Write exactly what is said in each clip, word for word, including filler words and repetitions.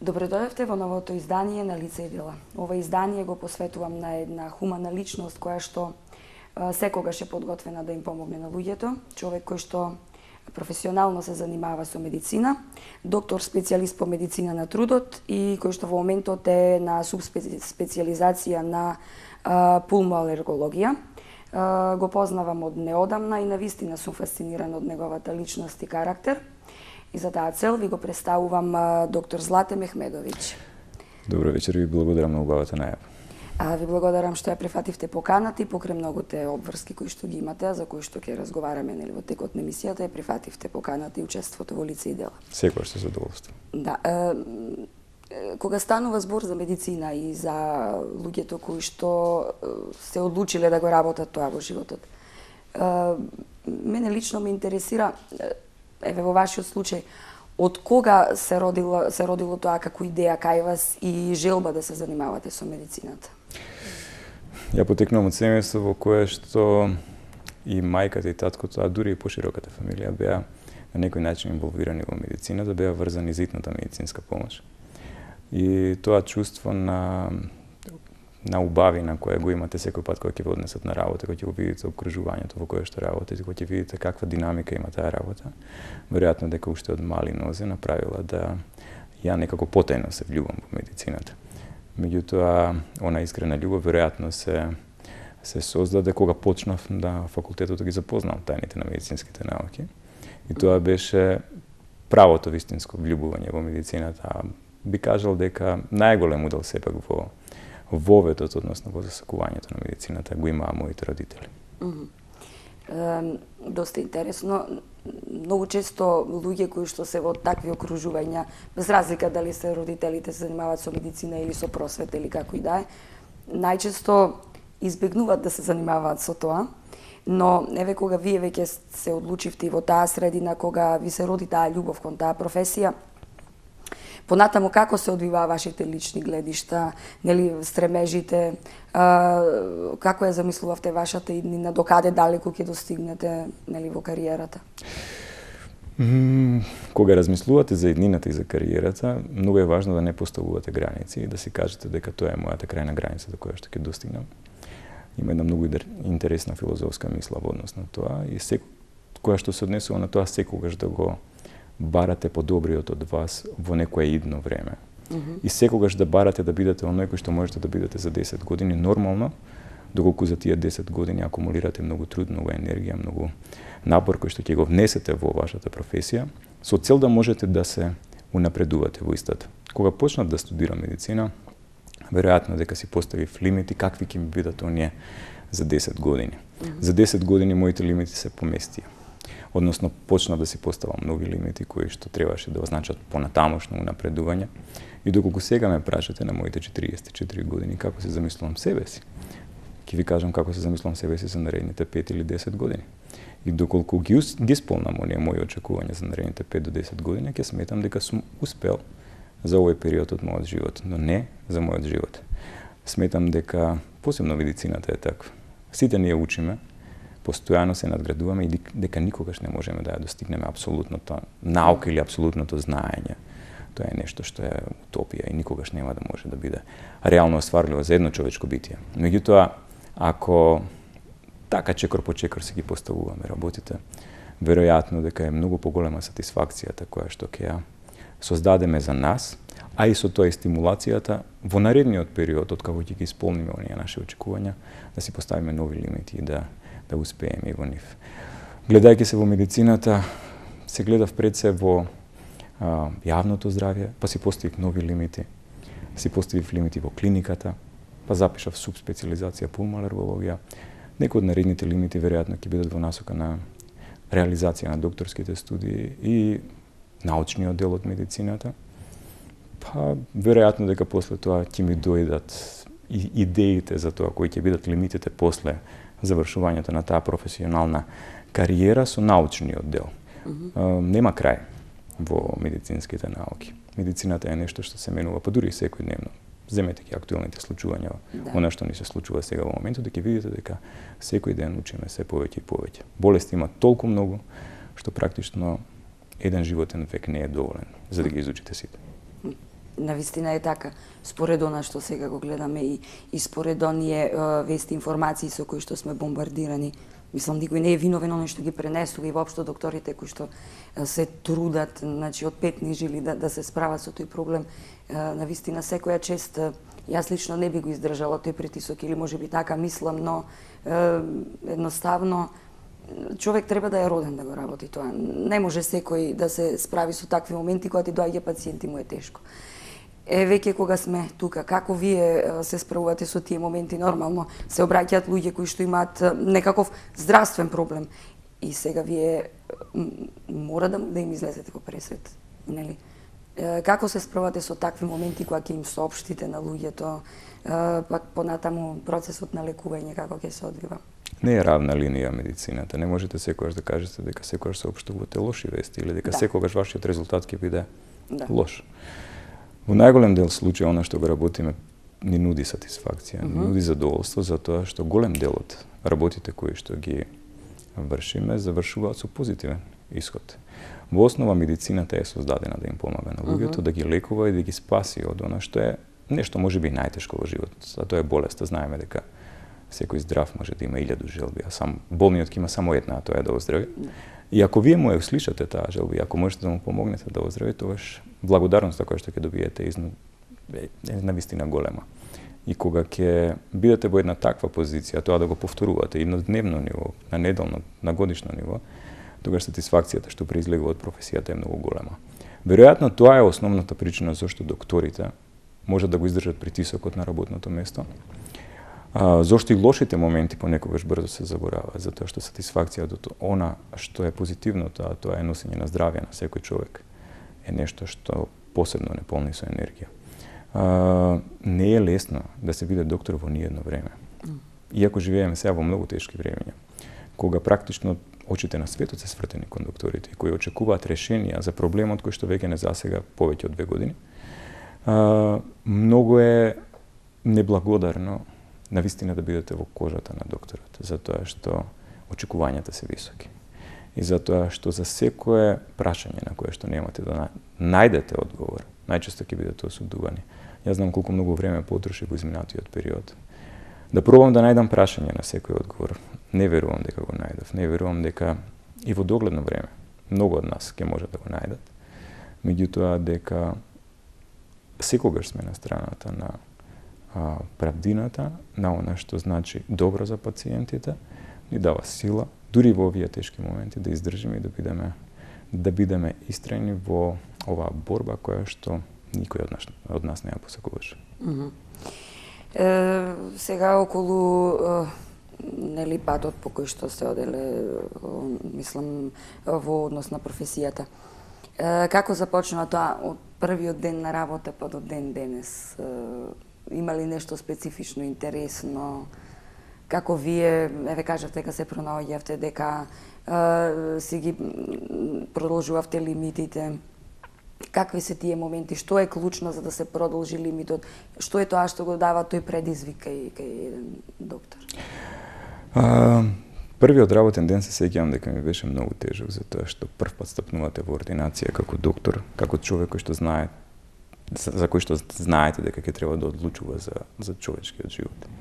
Добредојавте во новото издание на Лице и дела. Ова издание го посветувам на една хумана личност која што а, секогаш е подготвена да им помогне на луѓето, човек кој што професионално се занимава со медицина, доктор специјалист по медицина на трудот и кој што во моментот е на субспецијализација на а, пулмоалергологија. А, го познавам од неодамна и навистина сум фасциниран од неговата личност и карактер. И за таа цел ви го представувам а, доктор Злате Мехмедовиќ. Добро вечер, ви благодарам на убавата најава. А, ви благодарам што ја прифативте поканата и покрај многуте обврски кои што ги имате, за кои што ќе разговараме нели во текот на емисијата, ја прифативте поканата и учеството во Лице и дела. Секогаш со задоволство. Да, е, кога станува збор за медицина и за луѓето кои што се одлучиле да го работат тоа во животот, е, мене лично ме интересира, еве во вашиот случај, од кога се родило, се родило тоа како идеја кај вас и желба да се занимавате со медицината? Ја потекнувам од семејство во кое што и мајката и таткото, а дури и пошироката фамилија беа на некој начин инволвирани во медицината, беа врзани за итната медицинска помош. И тоа чувство на на убавина која го имате секој пат кога ќе ве однесат на работа, кога ќе го видите обкружувањето во кое што работите, кога ќе видите каква динамика има таа работа, веројатно дека уште од мали нозе направила да ја некако потајно се влюбам во медицината. Меѓутоа, она искрена љубов веројатно се се создаде кога почнав на факултетот да ги запознавам тајните на медицинските науки. И тоа беше правото вистинско влюбување во медицината. Би кажал дека најголем удел сепак во воветот, односно во засакувањето на медицината, го имаа моите родители. Mm -hmm. е, доста интересно. Многу често луѓе кои што се во такви окружувања, без разлика дали се родителите се занимаваат со медицина или со просвета или како и да е, најчесто избегнуваат да се занимаваат со тоа. Но еве кога вие веќе се одлучивте во таа средина, кога ви се роди таа љубов кон таа професија, понатаму како се одвиваа вашите лични гледишта, нели стремежите, а, како ја замислувавте вашата иднина, докаде далеку ќе достигнете нели во кариерата? Mm, кога размислувате за иднината и за кариерата, многу е важно да не поставувате граници и да си кажете дека тоа е мојата крајна граница до која што ќе достигнам. Има една многу интересна филозофска мисла во однос на тоа и секој која што се однесува на тоа секогаш да го барате подобриот од вас во некое идно време. Mm -hmm. И секогаш да барате да бидете оној кој што можете да бидете за десет години нормално, доколку за тие десет години акумулирате многу труд, многу енергија, многу напор кој што ќе го внесете во вашата професија, со цел да можете да се унапредувате во истата. Кога почнав да студирам медицина, веројатно дека си поставив лимити какви ќе ми бидат оние за десет години. Mm -hmm. За десет години моите лимити се поместија. Односно, почнав да си поставам нови лимити кои што требаше да означат понатамошно унапредување. И доколку сега ме прашате на моите четириесет и четири години како се замислувам себе си, ќе ви кажам како се замислувам себе си за наредните пет или десет години. И доколку ги, ги исполнам оние мои очекувања за наредните пет до десет години, ќе сметам дека сум успел за овој период од мојот живот, но не за мојот живот. Сметам дека посебно медицината е таква. Сите ние учиме, постојано се надградуваме и дека никогаш не можеме да ја достигнеме апсолутното наука или апсолутното знаење. Тоа е нешто што е утопија и никогаш нема да може да биде реално остварливо за едно човечко битие. Меѓутоа, ако така чекор по чекор се ги поставуваме работите, веројатно дека е многу поголема сатисфакцијата која што ќе ја создадеме за нас, а и со тоа и стимулацијата во наредниот период од како ќе ги исполниме оние наши очекувања, да си поставиме нови лимити и да да успееме и во нив. Гледајќи се во медицината, се гледав пред се во а, јавното здравје, па си поставив нови лимити, си поставив лимити во клиниката, па запишав субспециализација пулмоалергологија. Некои од наредните лимити веројатно ќе бидат во насока на реализација на докторските студии и научниот дел од медицината. Па веројатно дека после тоа ќе ми дојдат и идеите за тоа кои ќе бидат лимитите после завршувањето на таа професионална кариера со научниот дел. Mm-hmm. а, нема крај во медицинските науки. Медицината е нешто што се менува, па дури и секојдневно. Земете ги актуелните случувања, да. Она што ни се случува сега во моментот, да ќе видите дека секој ден учиме се повеќе и повеќе. Болести има толку многу што практично еден животен век не е доволен за да ги изучите сите. Навистина е така. Според она што сега го гледаме и, и според оние вести информации со кои што сме бомбардирани, мислам, никој не е виновен оној што ги пренесува и воопшто докторите кои што се трудат, значи од петни жили да, да се справат со тој проблем. Навистина секоја чест, јас лично не би го издржала тој притисок или можеби така мислам, но едноставно човек треба да е роден да го работи тоа. Не може секој да се справи со такви моменти кога ти доаѓа пациент и му е тешко. Е, веќе кога сме тука, како вие се справувате со тие моменти? Нормално се обраќаат луѓе кои што имаат некаков здравствен проблем и сега вие мора да, да им излезете во пресвет, нели? Како се справувате со такви моменти кога ќе им соопштите на луѓето, пак понатаму процесот на лекување како ќе се одвива? Не е равна линија медицината. Не можете секогаш да кажете дека секогаш соопштувате лоши вести или дека да. Секогаш вашиот резултат ќе биде да. Лош. Во најголем дел случаи, она што го работиме, ни нуди сатисфакција, mm-hmm. ни нуди задоволство, затоа што голем дел од работите кои што ги вршиме завршуваат со позитивен исход. Во основа медицината е создадена да им помага на луѓето, mm-hmm. да ги лекува и да ги спаси од она што е нешто можеби најтешко во животот. А тоа е болест. Знаеме дека секој здрав може да има илјаду желби, а сам болниот ќе има само една, тоа е да оздрави. Mm-hmm. И ако вие му ја услишате таа желба, ако можете да му помогнете да оздрави, тогаш благодарноста која што ќе добиете изна, е навистина голема. И кога ќе бидете во една таква позиција, тоа да го повторувате и на дневно ниво, на неделно, на годишно ниво, тогаш сатисфакцијата што произлегува од професијата е многу голема. Веројатно тоа е основната причина зашто докторите можат да го издржат притисокот на работното место. А, зошто и лошите моменти понекогаш брзо се забораваат, затоа што сатисфакцијата од она што е позитивното, а тоа е носење на здравје на секој човек, е нешто што посебно не полни со енергија. А, не е лесно да се биде доктор во ниедно време. Иако живееме сега во многу тешки времења, кога практично очите на светот се свртени кон докторите, кои очекуваат решенија за проблемот кој што веќе не засега повеќе од две години, а, многу е неблагодарно навистина да бидете во кожата на докторот, затоа што очекувањата се високи. И затоа што за секое прашање на кое што немате да најдете одговор, најчесто ќе бидете осудувани. Јас знам колку многу време потроши во изминатиот период да пробам да најдам прашање на секој одговор. Не верувам дека го најдов, не верувам дека и во догледно време многу од нас ќе може да го најдат. Меѓутоа дека секогаш сме на страната на а, правдината, на она што значи добро за пациентите, ни дава сила, дури во овие тешки моменти, да издржиме и да бидеме да бидеме истрајни во оваа борба која што никој од нас, од нас не ја посакуваше. Mm-hmm. Е, сега околу е, нели патот по кој што се оделе, мислам, во однос на професијата. Е, како започнува тоа од првиот ден на работа па до ден денес? Е, има ли нешто специфично, интересно? Како вие, еве кажавте дека се пронаоѓавте, дека е, си ги продолжувавте лимитите? Какви се тие моменти? Што е клучно за да се продолжи лимитот? Што е тоа што го дава тој предизвик кај, кај еден доктор? А, првиот работен ден се сеќавам дека ми беше многу тежок, затоа што прв пат стапнувате во ординација како доктор, како човек кој што знае, за кој што знаете дека ќе треба да одлучува за, за човечкиот живот.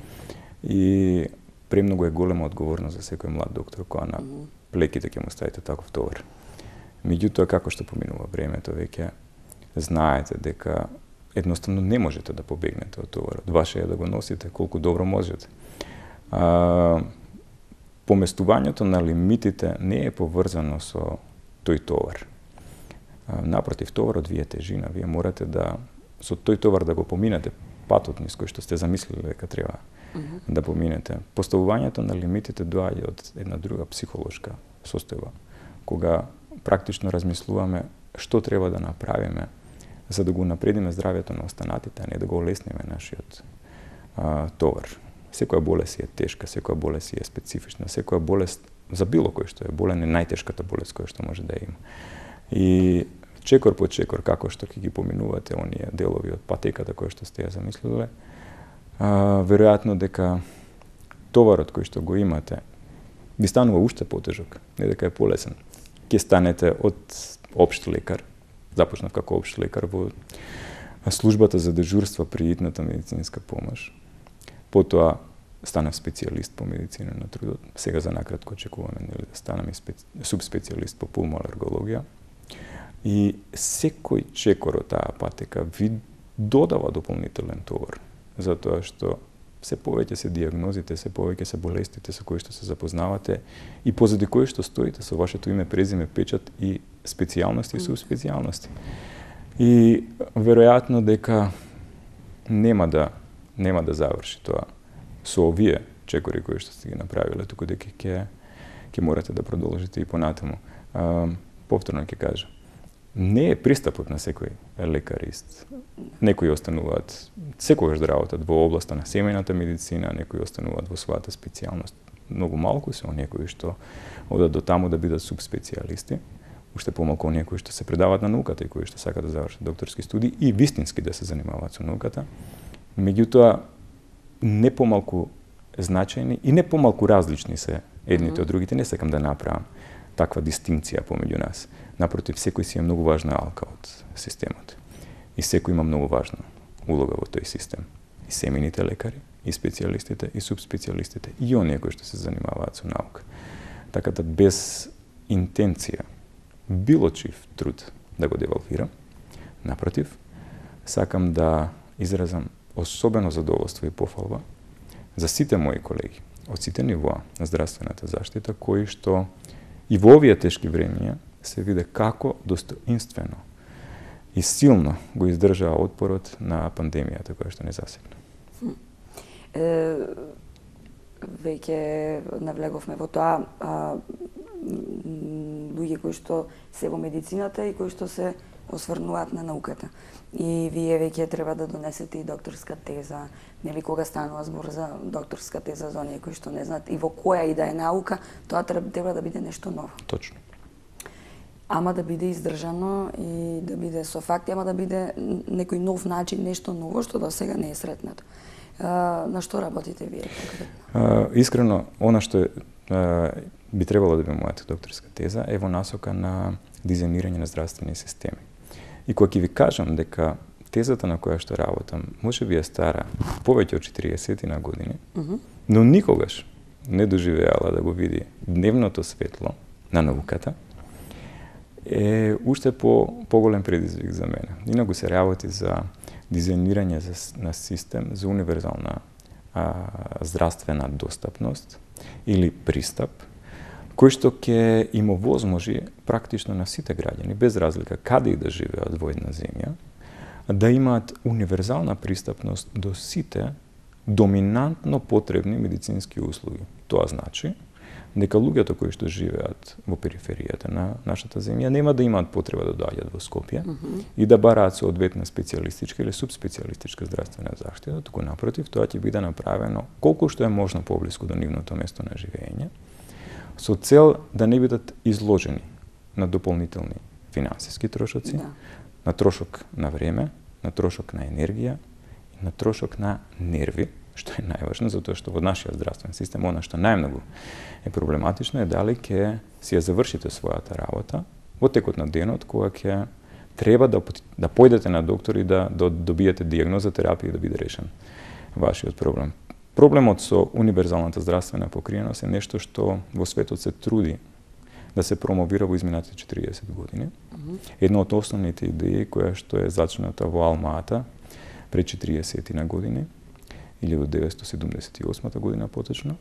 И премногу е голема одговорност за секој млад доктор која на плеките ќе му ставите таков товар. Меѓутоа, како што поминува времето, веќе знаете дека едноставно не можете да побегнете од товарот. Ваше е да го носите колку добро можете. А, поместувањето на лимитите не е поврзано со тој товар. А, напротив, товарот ви е тежина. Вие морате да со тој товар да го поминете патот низ кој што сте замислили дека треба mm-hmm. да поминете. Поставувањето на лимитите доаѓа од една друга психолошка состојба, кога практично размислуваме што треба да направиме за да го напредиме здравјето на останатите, а не да го олесниме нашиот а, товар. Секоја болест е тешка, секоја болест е специфична, секоја болест за било кој што е болен е најтешката болест која што може да има. И чекор по чекор, како што ќе ги поминувате оние делови од патеката која што сте ја замислиле, а, веројатно дека товарот кој што го имате ви станува уште потежок, не дека е полесен. Ќе станете од општ лекар, започнав како општ лекар во службата за дежурство при итната медицинска помош. Потоа станав специјалист по медицина на трудот. Сега за накратко очекуваме нели да станам и специ... субспецијалист по пулмоалергологија. И секој чекор од таа патека ви додава дополнителен товар, затоа што се повеќе се дијагнозите, се повеќе се болестите со кои што се запознавате и позади кои што стоите со вашето име, презиме, печат и специјалности и субспецијалности. И веројатно дека нема да нема да заврши тоа со овие чекори кои што сте ги направиле, туку дека ќе ќе морате да продолжите и понатаму. А, повторно ќе кажам, не е пристапот на секој лекарист. Некои остануваат секогаш да работат во областа на семејната медицина, некои остануваат во својата специјалност. Многу малку се оние кои што одат до таму да бидат субспецијалисти, уште помалку оние кои што се предаваат на науката и кои што сакаат да завршат докторски студии и вистински да се занимаваат со науката. Меѓутоа, не помалку значајни и не помалку различни се едните mm-hmm. од другите. Не сакам да направам таква дистинкција помеѓу нас. Напротив, секој си е многу важна алка од системот. И секој има многу важна улога во тој систем. И семејните лекари, и специјалистите, и субспецијалистите, и оние кои што се занимаваат со наука. Така да без интенција, било чив труд да го девалвирам, напротив, сакам да изразам особено задоволство и пофалба за сите мои колеги од сите нивоа на здравствената заштита, кои што и во овие тешки времиња се виде како достоинствено и силно го издржаа отпорот на пандемијата која што не засегна. Е, веќе навлеговме во тоа, а, луѓе кои што се во медицината и кои што се осврнуваат на науката. И вие веќе треба да донесете и докторска теза, нели кога станува збор за докторска теза за оние кои што не знаат и во која и да е наука, тоа треба да биде нешто ново. Точно. Ама да биде издржано и да биде со факти, ама да биде некој нов начин, нешто ново што до сега не е сретнато. А, на што работите вие конкретно? Искрено, она што а, би требало да биде мојата докторска теза е во насока на дизајнирање на здравствени системи. И кога ќе ви кажам дека тезата на која што работам може би е стара повеќе од четириесет на години, mm-hmm. но никогаш не доживеала да го види дневното светло на науката, е уште по поголем предизвик за мене. Инаку се работи за дизајнирање на систем за универзална а, здравствена достапност или пристап, кој што ќе им овозможи практично на сите граѓани, без разлика каде и да живеат во една земја, да имаат универзална пристапност до сите доминантно потребни медицински услуги. Тоа значи дека луѓето кои што живеат во периферијата на нашата земја нема да имаат потреба да доаѓаат во Скопје mm-hmm. и да бараат соодветна специјалистичка или субспецијалистичка здравствена заштита, туку напротив, тоа ќе биде направено колку што е можно поблиску до нивното место на живење, со цел да не бидат изложени на дополнителни финансиски трошоци, да. на трошок на време, на трошок на енергија и на трошок на нерви, што е најважно, затоа што во нашиот здравствен систем, она што најмногу е проблематично е дали ќе си ја завршите својата работа во текот на денот, кога ќе треба да, да појдете на доктор и да, да добиете дијагноза, терапија и да биде решен вашиот проблем. Проблемот со универзалната здравствена покриеност е нешто што во светот се труди да се промовира во изминатите четириесет години. Mm-hmm. Една од основните идеи која што е зачната во Алма-Ата пред четириесет на години, илјадум деветстотини седумдесет и осма година поточно,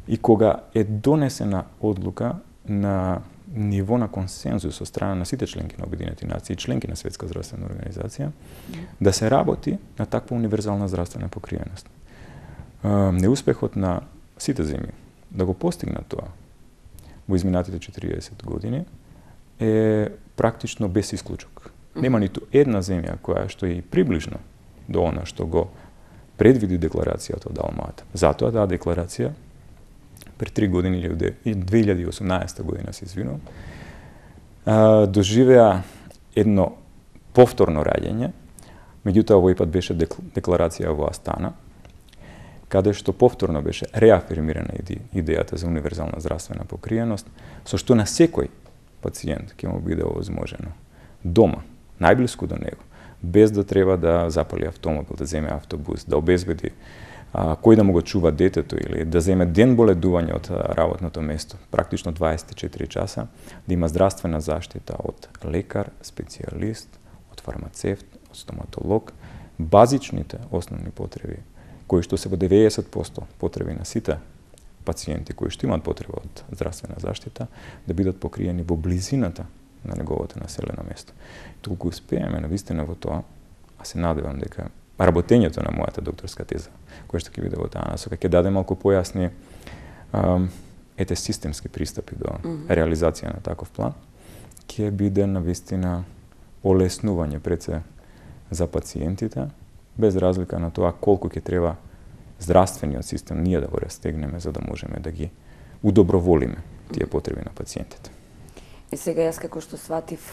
и кога е донесена одлука на ниво на консензус од страна на сите членки на Обединети нации и членки на Светска здравствена организација, mm-hmm. да се работи на таква универзална здравствена покриеност. Неуспехот на сите земји да го постигнат тоа во изминатите четириесет години е практично без исклучок. Mm-hmm. Нема ниту една земја која што е и приближно до она што го предвиди декларацијата од Алма-Ата. Затоа таа декларација пред три години или две илјади и осумнаесета година се извинувам, доживеа едно повторно раѓање, меѓутоа овој пат беше декларација во Астана, каде што повторно беше реафирмирана идејата за универзална здравствена покриеност, со што на секој пациент ќе му биде овозможено дома, најблиску до него, без да треба да запали автомобил, да земе автобус, да обезбеди а, кој да му го чува детето или да земе ден боледување од работното место, практично дваесет и четири часа, да има здравствена заштита од лекар, специјалист, од фармацевт, од стоматолог, базичните основни потреби, кои што се во деветдесет проценти потреби на сите пациенти кои што имаат потреба од здравствена заштита, да бидат покриени во близината на неговото населено место. Толку успееме навистина во тоа, а се надевам дека работењето на мојата докторска теза, која што ќе биде во таа насока, ќе даде малку појасни ам, ете системски пристапи до mm -hmm. реализација на таков план, ќе биде навистина олеснување пред се за пациентите, без разлика на тоа колку ќе треба здравствениот систем ние да го растегнеме за да можеме да ги удоброволиме тие потреби на пациентите. И сега јас како што сватив,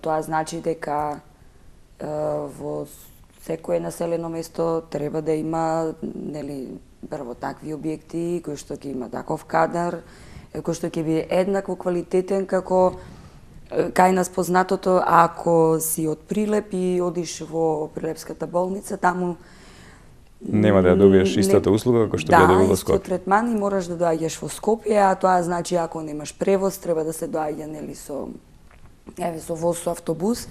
тоа значи дека во секое населено место треба да има, нели, прво такви објекти кои што ќе има таков кадар, кој што ќе биде еднакво квалитетен како кај нас познатото, ако си од Прилеп и одиш во Прилепската болница, таму нема да ја добиеш истата услуга како што да, ја добива во Скопје. Да, исто третман и мораш да доаѓаш во Скопје, а тоа значи ако немаш превоз, треба да се доаѓа нели со еве со воз, со автобус,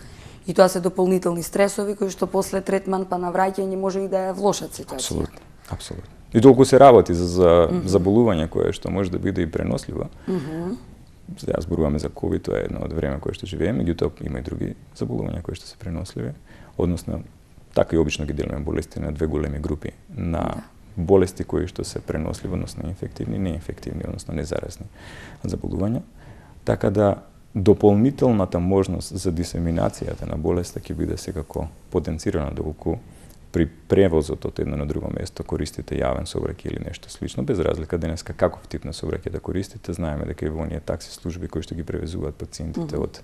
и тоа се дополнителни стресови кои што после третман па навраќање може и да ја влошат ситуација. Апсолутно, апсолутно. И толку се работи за, за mm -hmm. заболување кое што може да биде и преносливо. Mm -hmm. Сега зборуваме за ковид, тоа е едно од време кое што живееме, меѓутоа има и други заболувања кои што се преносливи, односно така и обично ги делиме болести на две големи групи, на да. болести кои што се преносливи, односно инфективни, неинфективни, односно незаразни заболувања. Така да дополнителната можност за дисеминацијата на болеста ќе биде секако потенцирана доколку при превозот од едно на друго место користите јавен сообраќај или нешто слично, без разлика денеска каков тип на сообраќај да користите, знаеме дека и во оние такси служби кои што ги превезуваат пациентите mm -hmm. од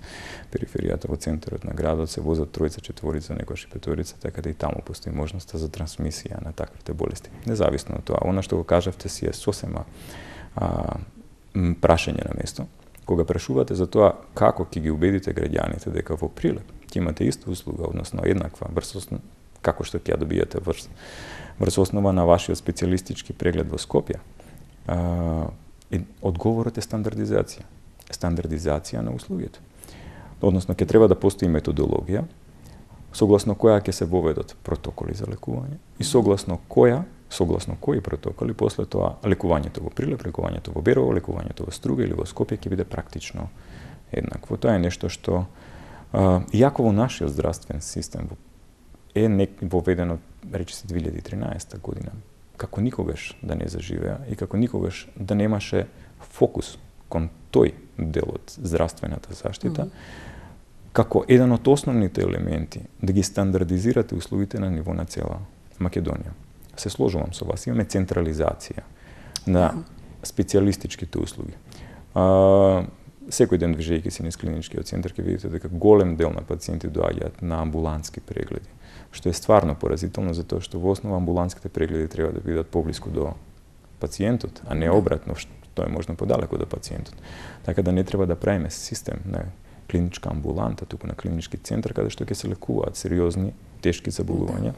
периферијата во центарот на градот се возат тројца, четворица, некојаш и петорица, така да и таму постои можноста за трансмисија на таквите болести. Независно од тоа, она што го кажавте си е сосема а, прашање на место. Кога прашувате за тоа како ќе ги убедите граѓаните дека во Прилеп ќе имате иста услуга, односно еднаква врз како што ќе ја добијате врз, врз основа на вашиот специјалистички преглед во Скопје, а, одговорот е стандардизација. Стандардизација на услугите. Односно, ќе треба да постои методологија, согласно која ќе се воведат протоколи за лекување и согласно која, согласно кои протоколи, после тоа лекувањето во Прилеп, лекувањето во Берово, лекувањето во Струга или во Скопје ќе биде практично еднакво. Тоа е нешто што, а, иако во нашиот здравствен систем е нек воведено, рече се две илјади и тринаесета година, како никогаш да не заживеа и како никогаш да немаше фокус кон тој дел од здравствената заштита, mm -hmm. како еден од основните елементи да ги стандардизирате услугите на ниво на цела Македонија. Се сложувам со вас, имаме централизација на специјалистичките услуги. А, секој ден движејќи се низ клиничкиот центар ќе видите дека голем дел на пациенти доаѓаат на амбулантски прегледи, што е стварно поразително затоа што во основа амбулантските прегледи треба да бидат поблиску до пациентот, а не обратно, што е можно подалеку до пациентот. Така да не треба да правиме систем на клиничка амбуланта, туку на клинички центар каде што ќе се лекуваат сериозни, тешки заболувања,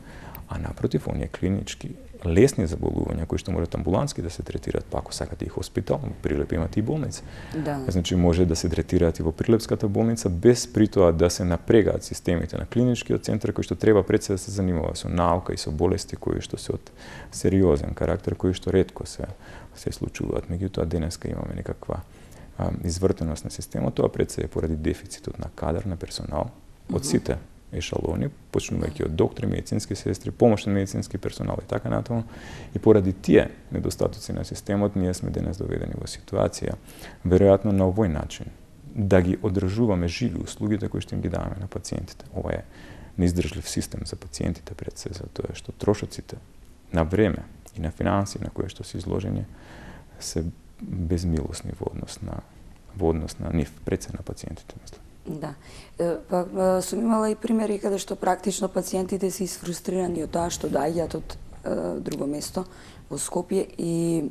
а напротив, оние клинички лесни заболувања кои што можат амбулантски да се третираат, па ако сакате и хоспитал, во Прилеп имате и болница. Да. Значи може да се третираат и во Прилепската болница без при тоа да се напрегаат системите на клиничкиот центар кој што треба пред се да се занимава со наука и со болести кои што се од сериозен карактер, кои што ретко се се случуваат. Меѓутоа денеска имаме некаква а, извртеност на системот, тоа пред се е поради дефицитот на кадар, на персонал од сите ешалони, почнувајќи од доктори, медицински сестри, помошни медицински персонал и така натаму. И поради тие недостатоци на системот, ние сме денес доведени во ситуација, веројатно на овој начин, да ги одржуваме живи услугите кои што им ги даваме на пациентите. Ова е неиздржлив систем за пациентите пред се, затоа што трошоците на време и на финанси на кои што се изложени се безмилосни во однос на во однос на нив, пред се на пациентите, мислам. Да. Па сум имала и примери каде што практично пациентите се исфрустрирани од тоа што доаѓаат од е, друго место во Скопје и е,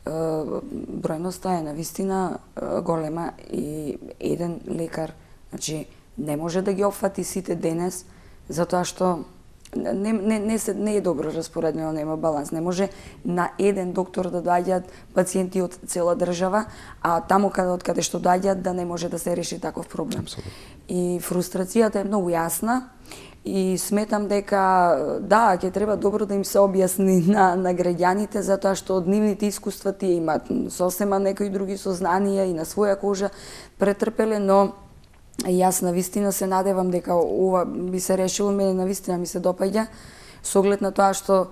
бројноста е навистина е, голема и еден лекар, значи не може да ги опфати сите денес затоа што Не, не, не, се, не е добро распоредено, нема баланс. Не може на еден доктор да доаѓаат пациенти од цела држава, а таму каде од каде што доаѓаат да не може да се реши таков проблем. Абсолютно. И фрустрацијата е многу јасна и сметам дека да, ќе треба добро да им се објасни на, на граѓаните затоа што од нивните искуства тие имаат сосема некои други сознанија и на своја кожа претрпеле, но јас навистина се надевам дека ова би се решило, мене навистина ми се допаѓа, со оглед на тоа што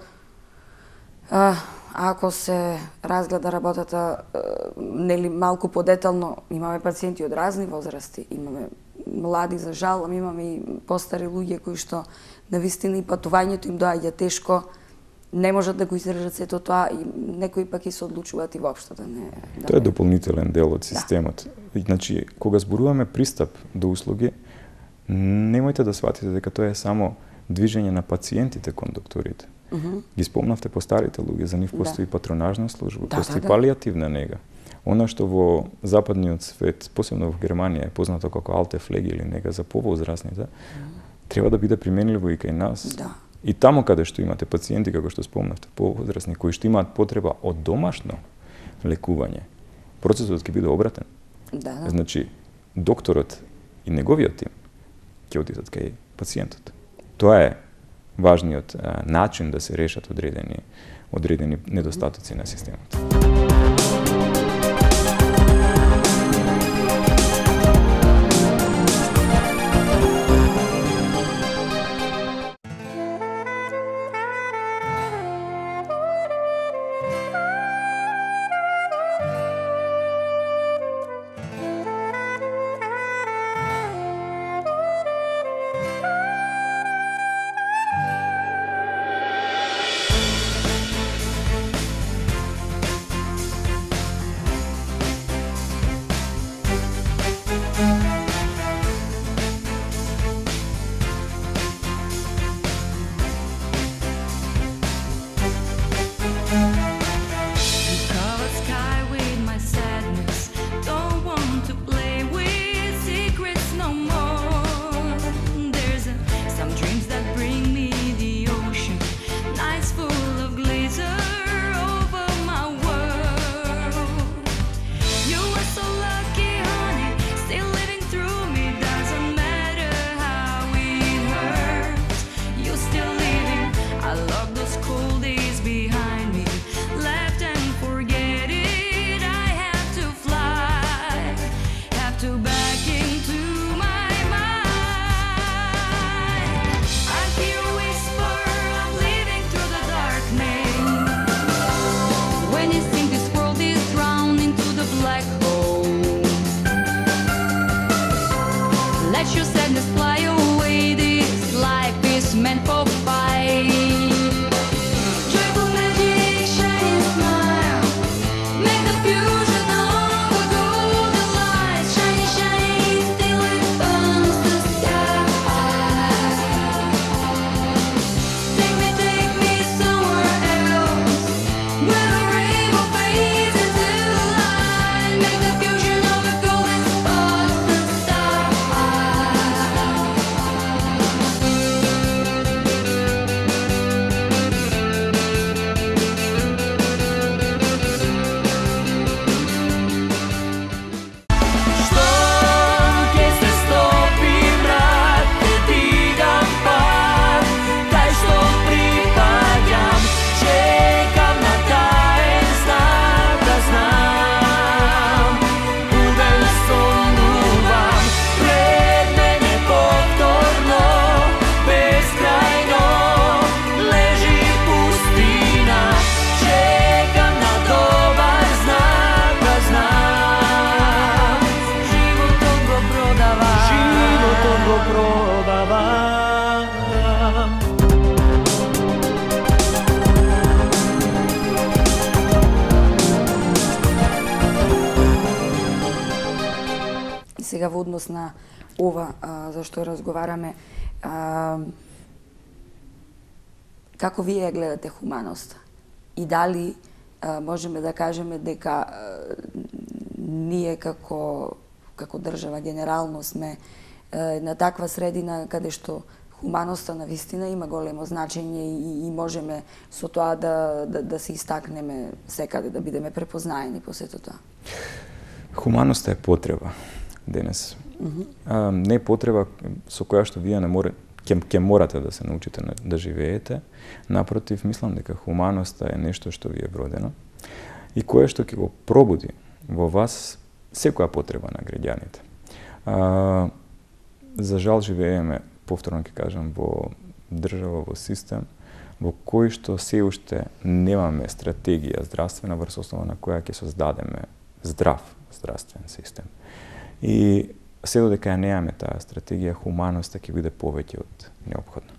а, ако се разгледа работата а, нели малку подетално, имаме пациенти од разни возрасти, имаме млади за жал, ама имаме и постари луѓе кои што навистина и патувањето им доаѓа тешко, не можат да го издржат сето тоа и некои пак и се одлучуваат и воопшто да не... Да Тоа е не... дополнителен дел од системот. Да. Значи, кога зборуваме пристап до услуги, немојте да сватите дека тоа е само движење на пациентите кон докторите. Uh -huh. Ги спомнавте по старите луѓе, за нив постои да. патронажна служба, да, постои да, да. палијативна нега. Она што во западниот свет, посебно во Германија, е познато како алте флеги или нега за повозрасните, uh -huh. треба да биде применливо и кај нас. Да. И таму каде што имате пациенти, како што спомнавте, повозрасни, кои што имаат потреба од домашно лекување, процесот ќе биде обратен. Да, да. Значи, докторот и неговиот тим ќе отидат кај пациентот. Тоа е важниот а, начин да се решат одредени, одредени недостатоци на системот. сега во однос на ова а, за што разговараме, а, како вие ја гледате хуманоста? И дали а, можеме да кажеме дека а, ние како како држава генерално сме а, на таква средина каде што хуманоста на вистина има големо значење и, и можеме со тоа да, да, да се истакнеме секаде, да бидеме препознаени по сето тоа. Хуманоста е потреба денес. Mm-hmm. А, не е потреба со која што вие не море, ќе, ќе морате да се научите да живеете. Напротив, мислам дека хуманоста е нешто што ви е вродено и кое што ќе го пробуди во вас секоја потреба на граѓаните. А, за жал живееме, повторно ќе кажам, во држава, во систем, во кој што се уште немаме стратегија здравствена врз основа на која ќе создадеме здрав здравствен систем. И се додека ја немаме таа стратегија, хуманоста ќе биде повеќе од неопходна.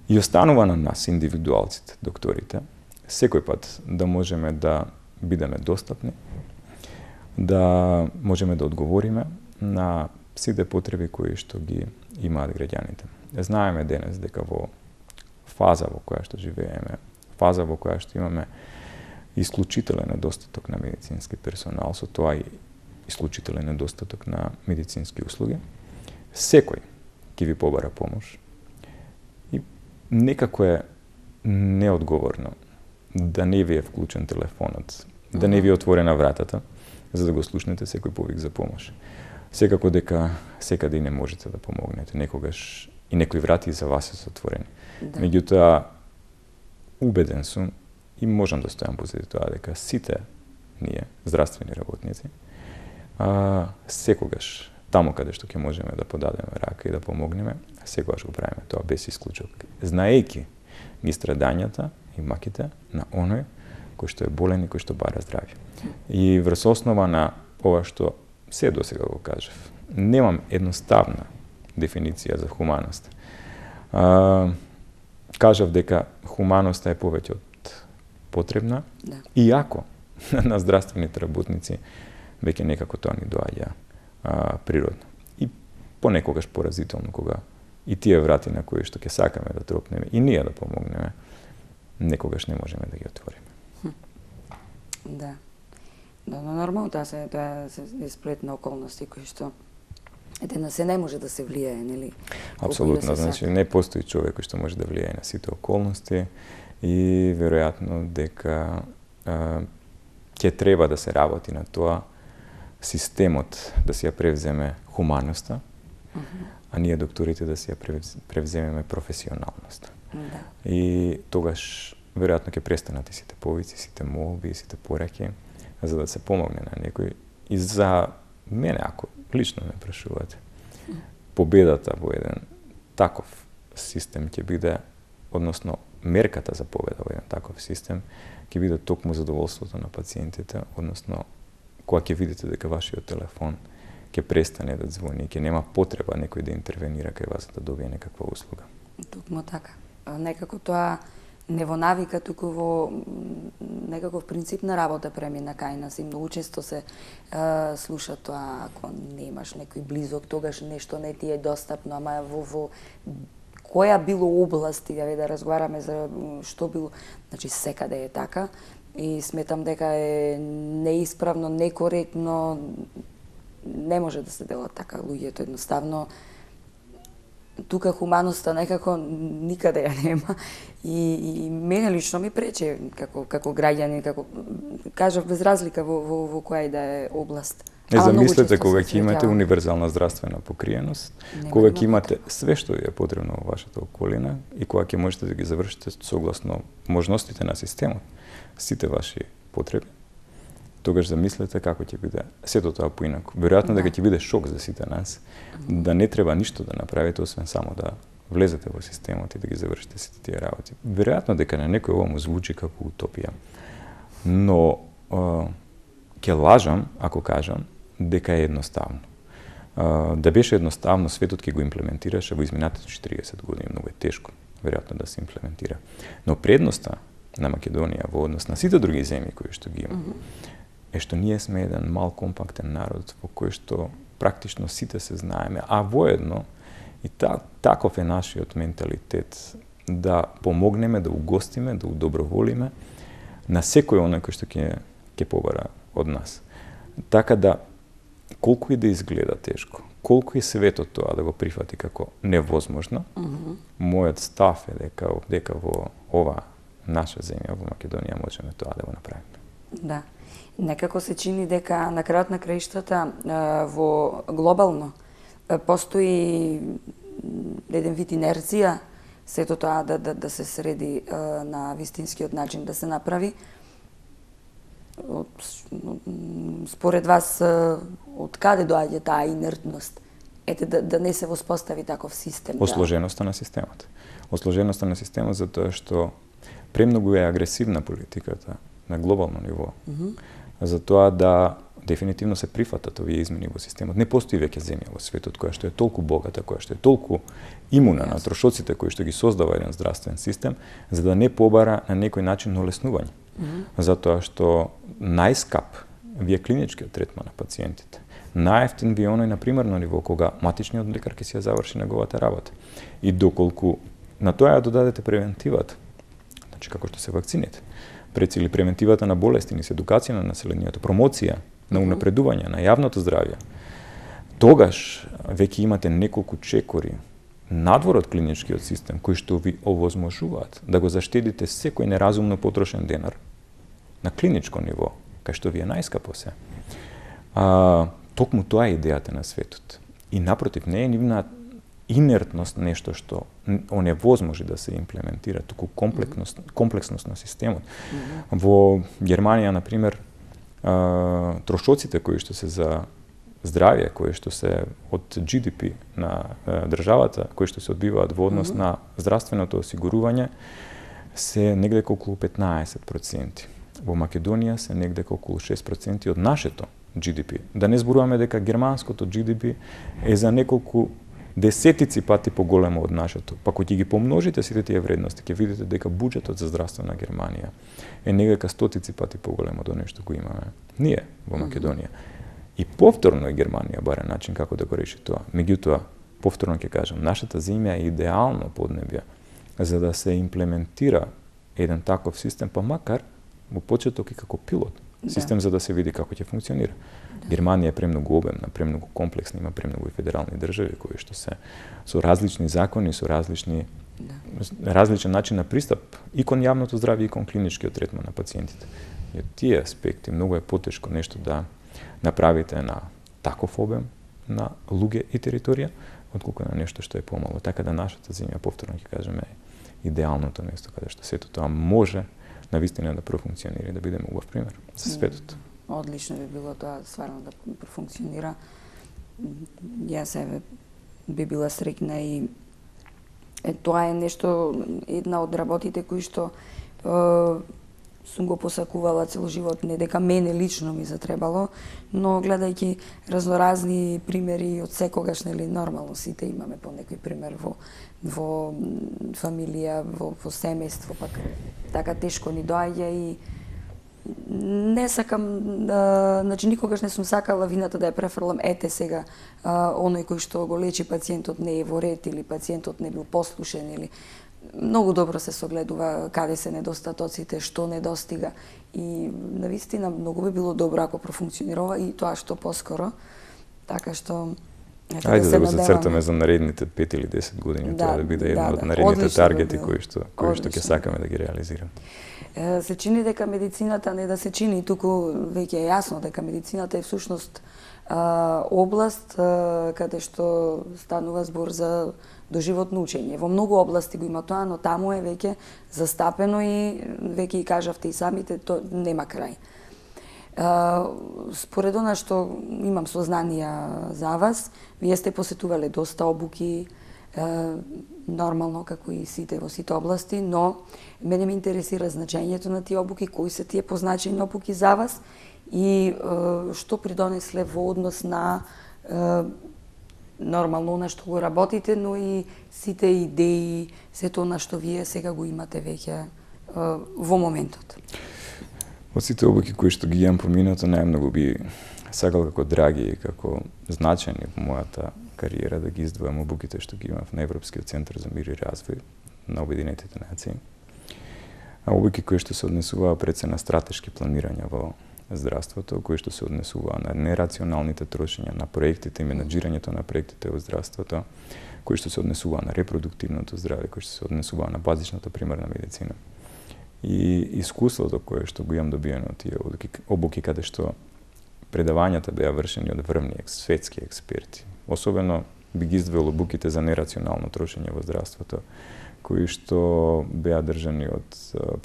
И останува на нас, индивидуалците, докторите, секој пат да можеме да бидеме достапни, да можеме да одговориме на сите потреби кои што ги имаат граѓаните. Знаеме денес дека во фаза во која што живееме, фаза во која што имаме исклучителен недостаток на медицински персонал, со тоа и исклучителен недостаток на медицински услуги, секој ќе ви побара помош. И некако е неодговорно да не ви е вклучен телефонот, да не ви е отворена вратата, за да го слушнете секој повик за помош. Секако дека секаде и не можете да помогнете, некогаш и некои врати за вас се отворени. Да. Меѓутоа, убеден сум и можам да стојам позади тоа дека сите ние, здравствени работници, а, секогаш, таму каде што ќе можеме да подадеме рака и да помогнеме, секогаш го правиме тоа без исклучок. Знаејќи ги страдањата и маките на оној кој што е болен и кој што бара здравје. И врз основа на ова што се досега го кажав, немам едноставна дефиниција за хуманост. А, кажав дека хуманоста е повеќе од потребна, да. Иако на здравствените работници веќе некако тоа ни доаѓа а, природно. И понекогаш поразително кога и тие врати на кои што ќе сакаме да тропнеме и ние да помогнеме, некогаш не можеме да ги отвориме. Да. Да, но нормално тоа се тоа се сплет на околности кои што ете на се не може да се влијае, нели? Апсолутно, значи не постои човек кој што може да влијае на сите околности и веројатно дека а, ќе треба да се работи на тоа системот да си ја превземе хуманоста, uh -huh. а ние докторите да си ја превземеме професионалноста. Да. И тогаш веројатно ќе престанат и сите повици, сите молби, сите пораки, за да се помогне на некој. И за мене, ако лично ме прашувате, победата во еден таков систем ќе биде, односно мерката за победа во еден таков систем, ќе биде токму задоволството на пациентите, односно кога ќе видите дека вашиот телефон ќе престане да звони, ќе нема потреба некој да интервенира кај вас да добие некаква услуга. Токму така. Некако тоа не во навика, туку во некаков принцип на работа премина кај нас и многу често се е, слуша тоа, ако немаш некој близок, тогаш нешто не ти е достапно, ама во, во која било области, да, да разговараме за што било, значи секаде е така и сметам дека е неисправно, некоректно, не може да се делат така луѓето едноставно. Тука хуманоста некако никаде ја нема и, и мене лично ми прече како како граѓанин, како кажав без разлика во во, во која и да е област. Не замислете кога ќе имате универзална здравствена покриеност, кога ќе имате све што ви е потребно во вашата околина и кога ќе можете да ги завршите согласно можностите на системот, сите ваши потреби. Тогаш замислете како ќе биде сето тоа поинаку. Веројатно дека ќе биде шок за сите нас, да не треба ништо да направите освен само да влезете во системот и да ги завршите сите тие работи. Веројатно дека на некој ова му звучи како утопија. Но ќе лажам ако кажам дека е едноставно. Да беше едноставно, светот ќе го имплементираше во изминатите четириесет години, многу е тешко веројатно да се имплементира. Но предноста на Македонија во однос на сите други земји кои што ги има, е што ние сме еден мал компактен народ во кој што практично сите се знаеме, а воедно и та, таков е нашиот менталитет да помогнеме, да угостиме, да удоброволиме на секој оној кој што ќе ќе побара од нас. Така да колку и да изгледа тешко, колку и светот тоа да го прифати како невозможно, mm -hmm. мојот став е дека дека во ова наша земја, во Македонија, можеме тоа да го направиме. Да. Некако се чини дека на крајот на краиштата во глобално постои еден вид инерција сето тоа да, да, да се среди на вистинскиот начин да се направи. Според вас, од каде доаѓа таа инертност? Ете, да, да не се воспостави таков систем? Осложеноста да... на системот. Осложеноста на системот затоа што премногу е агресивна политиката на глобално ниво. Mm -hmm. Затоа да дефинитивно се прифатат овие измени во системот. Не постои веќе земја во светот која што е толку богата, која што е толку имуна yes. на трошоците кои што ги создава еден здравствен систем, за да не побара на некој начин олеснување. Mm -hmm. Затоа што најскап ви е клиничкиот третман на пациентите. Најефтин ви е оној на примарно ниво кога матичниот лекар ќе си ја заврши неговата работа. И доколку на тоа ја додадете превентивата, значи како што се вакцините, прецели превентивата на болести, низ едукација на населението, промоција на унапредување на јавното здравје, тогаш веќе имате неколку чекори надвор од клиничкиот систем кои што ви овозможуваат да го заштедите секој неразумно потрошен денар на клиничко ниво, кај што ви е најскапо се. А, токму тоа е идејата на светот. И напротив, не е нивна инертност нешто што оневозможи да се имплементира, туку комплексност, комплексност на системот. Mm-hmm. Во Германија, на пример, а, трошоците кои што се за здравје, кои што се од Джи Ди Пи на а, државата, кои што се одбиваат во однос mm-hmm. на здравственото осигурување, се негде околу петнаесет проценти. Во Македонија се негде околу шест проценти од нашето Джи Ди Пи. Да не зборуваме дека германското Джи Ди Пи е за неколку десетици пати поголемо од нашето. Па кога ќе ги помножите сите тие вредности, ќе видите дека буџетот за здравство на Германија е негде стотици пати поголемо од нешто што го имаме ние во Македонија. И повторно е Германија бара начин како да го реши тоа. Меѓутоа, повторно ќе кажам, нашата земја е идеално поднебје за да се имплементира еден таков систем, па макар во почеток и како пилот систем да. За да се види како ќе функционира. Да. Германија е премногу обемна, премногу комплексна, има премногу и федерални држави кои што се со различни закони, со различни да. различен начин на пристап и кон јавното здравје и кон клиничкиот третман на пациентите. И од тие аспекти многу е потешко нешто да направите на таков обем на луѓе и територија, отколку на нешто што е помало. Така да нашата земја, повторно ќе кажеме, е идеалното место каде што сето тоа може навистина да профункционира и да биде убав пример за светот. Одлично би било тоа стварно да профункционира. Јас еве би била среќна и е, тоа е нешто, една од работите кои што е, сум го посакувала цел живот, не дека мене лично ми затребало, но гледајќи разноразни примери од секогаш, нели, нормално сите имаме по некој пример во во фамилија, во, во семејство, пак така тешко ни доаѓа и не сакам, а, значи никогаш не сум сакала вината да ја префрлам, ете сега, а, оној кој што го лечи пациентот не е во ред или пациентот не бил послушен или многу добро се согледува каде се недостатоците, што недостига и навистина многу би било добро ако профункционирува и тоа што поскоро, така што Ајде да, да го зацртаме за наредните пет или десет години, да, тоа да биде една да, од наредните да, таргети да кои што кои што ќе сакаме да ги реализираме. Се чини дека медицината не да се чини, туку веќе е јасно дека медицината е всушност а, област а, каде што станува збор за доживотно учење. Во многу области го има тоа, но таму е веќе застапено и веќе и кажавте и самите, тоа нема крај. Uh, според она што имам сознанија за вас, вие сте посетувале доста обуки, uh, нормално како и сите во сите области, но мене ме интересира значењето на тие обуки, кои се тие позначени обуки за вас и uh, што придонесле во однос на uh, нормално на што го работите, но и сите идеи, сето на што вие сега го имате веќе uh, во моментот. Од сите обуки кои што ги имам поминато, најмногу би сакал како драги и како значајни во мојата кариера да ги издвојам обуките што ги имав на Европскиот центар за мир и развој на Обединетите нации. А обуки кои што се однесуваа пред се на стратешки планирања во здравството, кои што се однесуваа на нерационалните трошења на проектите и менаџирањето на проектите во здравството, кои што се однесуваа на репродуктивното здраве, кои што се однесуваа на базичната примарна медицина. И искуството кое што го имам добиено од тие обуки каде што предавањата беа вршени од врвни светски експерти. Особено би ги издвоил обуките за нерационално трошење во здравството, кои што беа држани од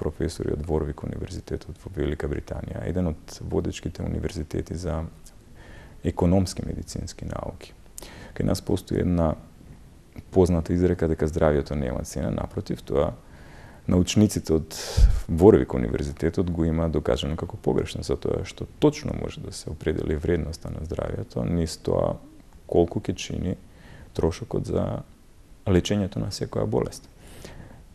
професори од Ворвик универзитетот во Велика Британија, еден од водечките универзитети за економски медицински науки. Кај нас постои една позната изрека дека здравјето нема цена, напротив, тоа научниците од Ворвик универзитетот го има докажано како погрешно, затоа што точно може да се определи вредноста на здравјето низ тоа колку ќе чини трошокот за лечењето на секоја болест.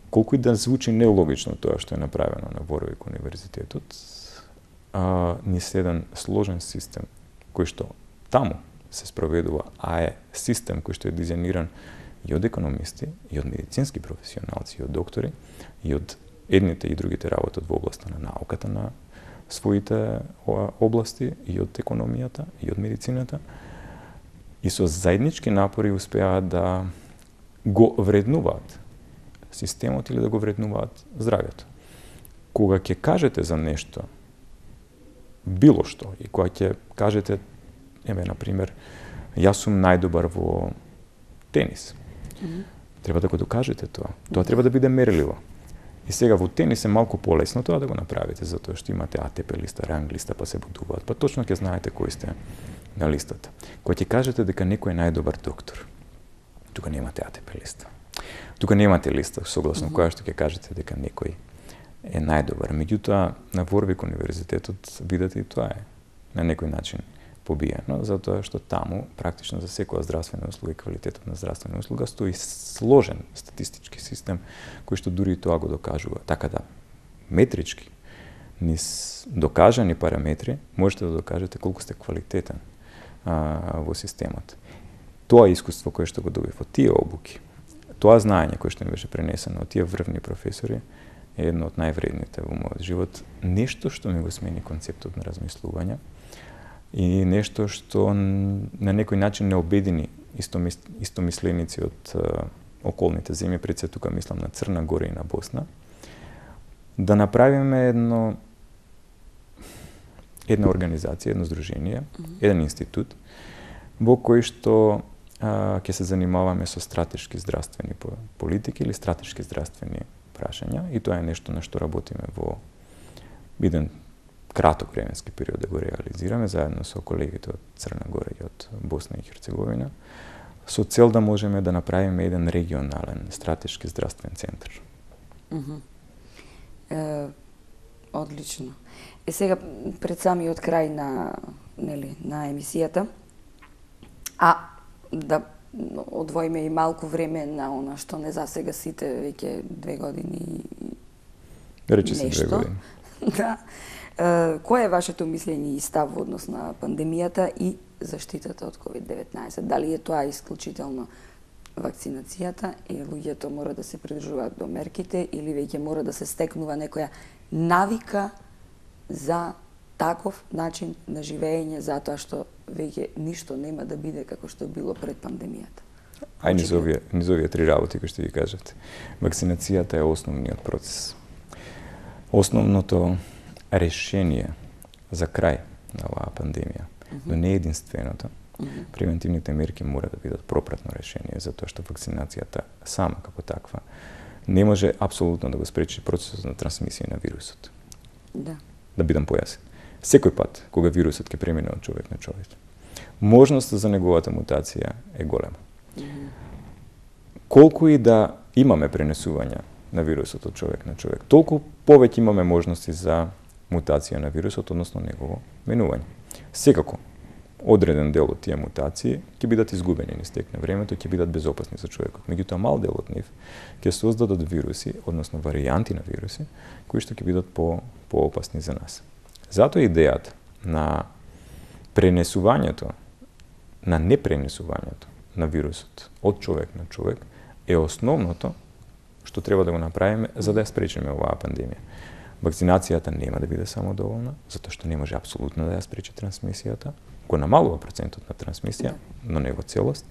Колку и да звучи нелогично тоа што е направено на Ворвик универзитетот, а, низ еден сложен систем кој што таму се спроведува, а е систем кој што е дизајниран и од економисти, и од медицински професионалци, и од доктори, и од едните и другите работат во областа на науката на своите области, и од економијата, и од медицината, и со заеднички напори успеаат да го вреднуваат системот или да го вреднуваат здравјето. Кога ќе кажете за нешто, било што, и кога ќе кажете, еме, например, јас сум најдобар во тенис, mm-hmm. треба да го докажете тоа. Тоа треба да биде мерливо. И сега во тенис е малку полесно тоа да го направите, затоа што имате А Т П листа, ранг листа, па се бодуваат, па точно ќе знаете кои сте на листата. Кога ќе кажете дека некој е најдобар доктор, тука немате А Т П листа. Тука немате листа согласно mm-hmm. која што ќе кажете дека некој е најдобар. Меѓутоа, на Ворвик универзитетот видите и тоа е на некој начин побиено, затоа што таму практично за секоја здравствена услуга и квалитетот на здравствена услуга стои сложен статистички систем кој што дури и тоа го докажува. Така да метрички низ докажани параметри можете да докажете колку сте квалитетен а, во системот. Тоа искуство кое што го добив од тие обуки, тоа знаење кое што ми беше пренесено од тие врвни професори е едно од највредните во мојот живот, нешто што ми го смени концептот на размислување и нешто што на некој начин не обедини истомис, истомисленици од а, околните земји, пред се тука мислам на Црна Гора и на Босна, да направиме едно една организација, едно здружение, mm-hmm. еден институт во кој што а, ќе се занимаваме со стратешки здравствени политики или стратешки здравствени прашања, и тоа е нешто на што работиме во еден краток временски период да го реализираме заедно со колегите од Црна Гора и од Босна и Херцеговина, со цел да можеме да направиме еден регионален стратешки здравствен центар. Mm-hmm. Е, одлично. Е сега пред самиот крај на нели на емисијата, а да одвоиме и малку време на она што не засега сите веќе две години и рече се две години. Да. Е, кое е вашето мислење и став во однос на пандемијата и заштитата од ковид деветнаесет? Дали е тоа исклучително вакцинацијата и луѓето мора да се придржуваат до мерките или веќе мора да се стекнува некоја навика за таков начин на живење, затоа што веќе ништо нема да биде како што било пред пандемијата? Ај низ овие, низ овие три работи кои што ги кажавте. Вакцинацијата е основниот процес. Основното решение за крај на оваа пандемија, mm-hmm. но не единственото. Mm-hmm. Превентивните мерки мора да бидат пропратно решение, затоа што вакцинацијата сама како таква не може апсолутно да го спречи процесот на трансмисија на вирусот. Да. Да бидам појасен. Секој пат кога вирусот ќе премине од човек на човек, можноста за неговата мутација е голема. Mm-hmm. Колку и да имаме пренесувања на вирусот од човек на човек, толку повеќе имаме можности за мутација на вирусот, односно негово менување. Секако, одреден дел од тие мутации ќе бидат изгубени низ тек на времето, ќе бидат безопасни за човекот. Меѓутоа, мал дел од нив ќе создадат вируси, односно варијанти на вируси, кои што ќе бидат по поопасни за нас. Затоа идејата на пренесувањето на непренесувањето на вирусот од човек на човек е основното што треба да го направиме за да ја спречиме оваа пандемија. Вакцинацијата нема да биде самодоволна, затоа што не може апсолутно да ја спречи трансмисијата, го намалува процентот на трансмисија, но не во целост.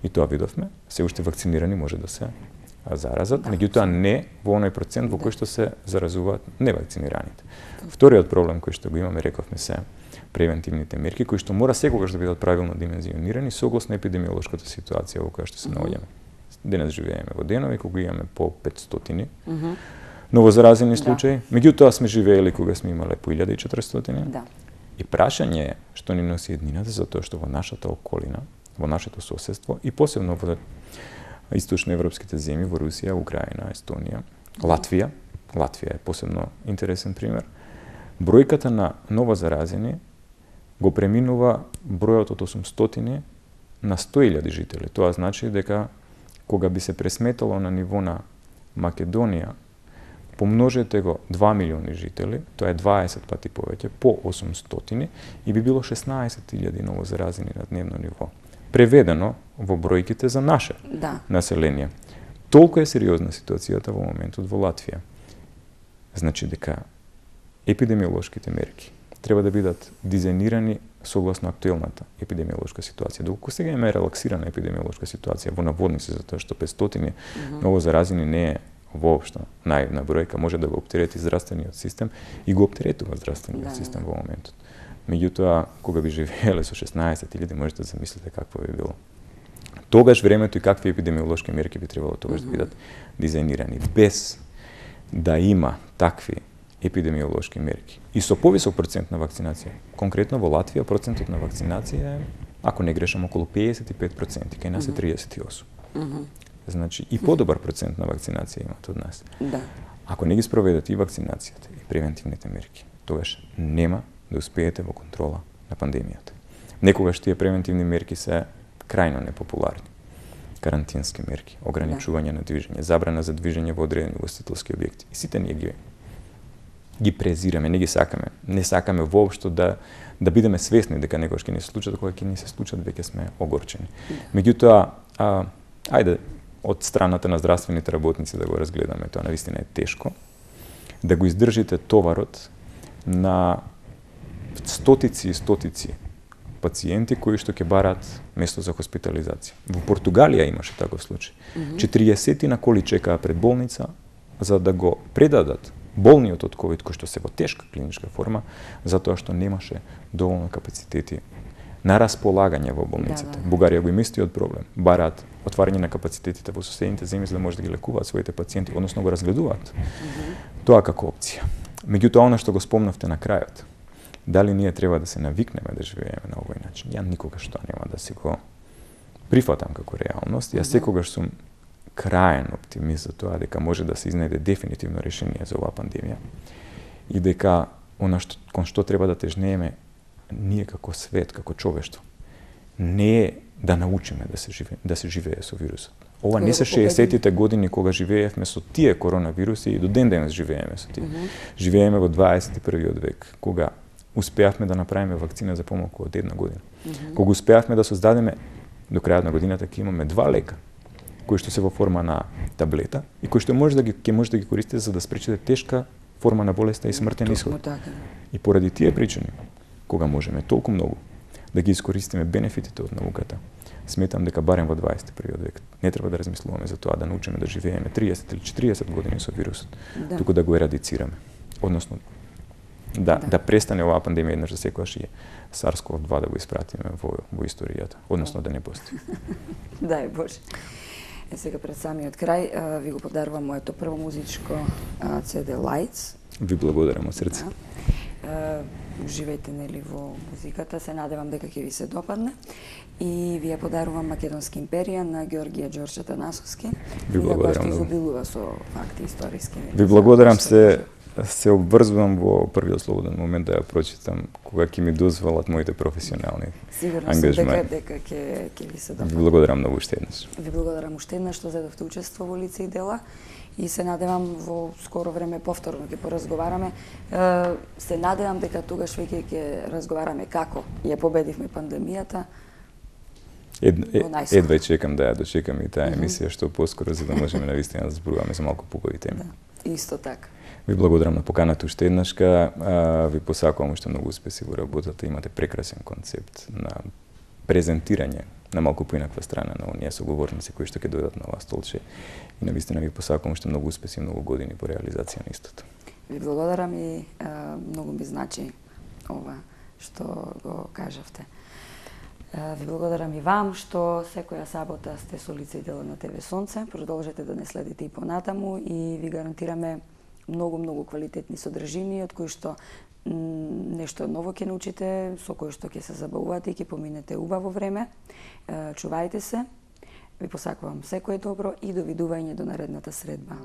И тоа видовме, се уште вакцинирани може да се заразат, меѓутоа не во оној процент во кој што се заразуваат невакцинираните. Вториот проблем кој што го имаме, рековме се, превентивните мерки, кои што мора секогаш да бидат правилно димензионирани согласно епидемиолошката ситуација во која што се наоѓаме. Денес живееме во денови кога имаме по петстотини mm -hmm. новозаразени случаи, да. Меѓутоа сме живеели кога сме имале по илјада и четиристотини. Да. И прашање е што ни носи еднината, затоа што во нашата околина, во нашето соседство и посебно во источноевропските земји, во Русија, Украина, Естонија, Латвија, Латвија е посебно интересен пример, бројката на новозаразени го преминува бројот од осумстотини на сто илјади жители. Тоа значи дека кога би се пресметало на ниво на Македонија, помножете го два милиони жители, тоа е дваесет пати повеќе, по осумстотини, и би било шеснаесет илјади новозаразени на дневно ниво. Преведено во бројките за наше да. население. Толку е сериозна ситуацијата во моментот во Латвија. Значи дека епидемиолошките мерки треба да бидат дизајнирани согласно актуелната епидемиолошка ситуација. Доколку сега има релаксирана епидемиолошка ситуација во наводници, затоа што петстотини mm -hmm. новозаразени не е воопшто наивна бројка, може да го оптерети здравствениот систем и го оптеретува здравствениот да, систем во моментот. Меѓутоа, кога би живееле со шеснаесет илјади, можете да замислите какво би било. Тогаш времето и какви епидемиолошки мерки би требало тогаш mm -hmm. да бидат дизајнирани, без да има такви епидемиолошки мерки. И со повисок процент на вакцинација. Конкретно во Латвија процентот на вакцинација е, ако не грешам, околу педесет и пет проценти, кај нас е триесет и осум. Mm -hmm. Значи, и подобар процент на вакцинација имат од нас. Да. Ако не ги спроведете и вакцинацијата, и превентивните мерки, тогаш нема да успеете во контрола на пандемијата. Некогаш тие превентивни мерки се крајно непопуларни. Карантински мерки, ограничување да. на движење, забрана за движење во одредени ugostителски објекти. И сите ние ги ги презираме, не ги сакаме. Не сакаме воопшто да да бидеме свесни дека некогаш ќе ни се случат, кога ќе ни се случат веќе сме огорчени. Да. Меѓутоа, а, ајде од страната на здравствените работници да го разгледаме, тоа навистина е тешко, да го издржите товарот на стотици и стотици пациенти кои што ќе барат место за хоспитализација. Во Португалија имаше таков случај. четириесет на коли чекаа пред болница за да го предадат болниот од ковид кој што се во тешка клиничка форма, затоа што немаше доволно капацитети на располагање во болниците. Да, да. Бугарија го има истиот проблем. Бараат отварање на капацитетите во соседните земји за да може да ги лекуваат своите пациенти, односно го разгледуваат. Mm -hmm. Тоа како опција. Меѓутоа, она што го спомнавте на крајот, дали ние треба да се навикнеме да живееме на овој начин? Ја никогаш тоа нема да се го прифатам како реалност. Ја секогаш сум краен оптимист за тоа дека може да се изнајде дефинитивно решение за оваа пандемија и дека она што кон што треба да тежнееме ние како свет, како човештво, не е да научиме да се живее, да се живее со вирусот. Ова не се шеесеттите години кога живеевме со тие коронавируси и до ден денес живееме со тие. Mm -hmm. Живееме во дваесет и првиот век, кога успеавме да направиме вакцина за помалку од една година. Mm -hmm. Кога успеавме да создадеме до крајот на годината ќе имаме два лека кои што се во форма на таблета и кои што може да ги ќе може да ги користите за да спречите тешка форма на болеста и смртен исход. И поради тие причини, кога можеме толку многу да ги искористиме бенефитите од науката, сметам дека барем во дваесет и првиот век не треба да размислуваме за тоа да научиме да живееме триесет или четириесет години со вирусот, да. туку да го ерадицираме. Односно, да, да. да престане оваа пандемија еднаш за секогаш и SARS-ков два да го испратиме во, во историјата, односно да не постои. Дај Боже. Е, сега пред самиот крај ви го подарувам моето прво музичко си ди Lights. Ви благодарам од срце. Да. Живеете нели во музиката, се надевам дека ќе ви се допадне. И ви ја подарувам Македонски империја на Ѓорѓија Ѓорче Танасовски. Ви благодарам. Кој што изобилува со факти историски. Ви благодарам се се обврзувам во првиот слободен момент да ја прочитам кога ќе ми дозволат моите професионални Сигурно ангажмент. дека дека ќе ќе ви се допадне. Ви благодарам многу уште еднаш. Ви благодарам уште еднаш што зедовте учество во лице и дела и се надевам во скоро време повторно ќе поразговараме. Се надевам дека тогаш веќе ќе разговараме како ја победивме пандемијата. Ед, ед, едва чекам да ја дочекам и таа емисија што поскоро, за да можеме навистина да зборуваме за малку поубави теми. Да, исто така. Ви благодарам на поканата уште еднашка. Ви посакувам уште многу успеси во работата. Имате прекрасен концепт на презентирање на малку поинаква страна на оние соговорници кои што ќе дојдат на ова столче. И навистина ви посакувам уште многу успеси и многу години по реализација на истото. Ви благодарам и а, многу ми значи ова што го кажавте. Ви благодарам и вам што секоја сабота сте со лице и дело на ТВ Сонце. Продолжете да не следите и понатаму и ви гарантираме многу, многу квалитетни содржини од кои што нешто ново ќе научите, со кој што ќе се забавувате и ќе поминете убаво време. Чувајте се. Ви посакувам секое добро и довидување до наредната средба.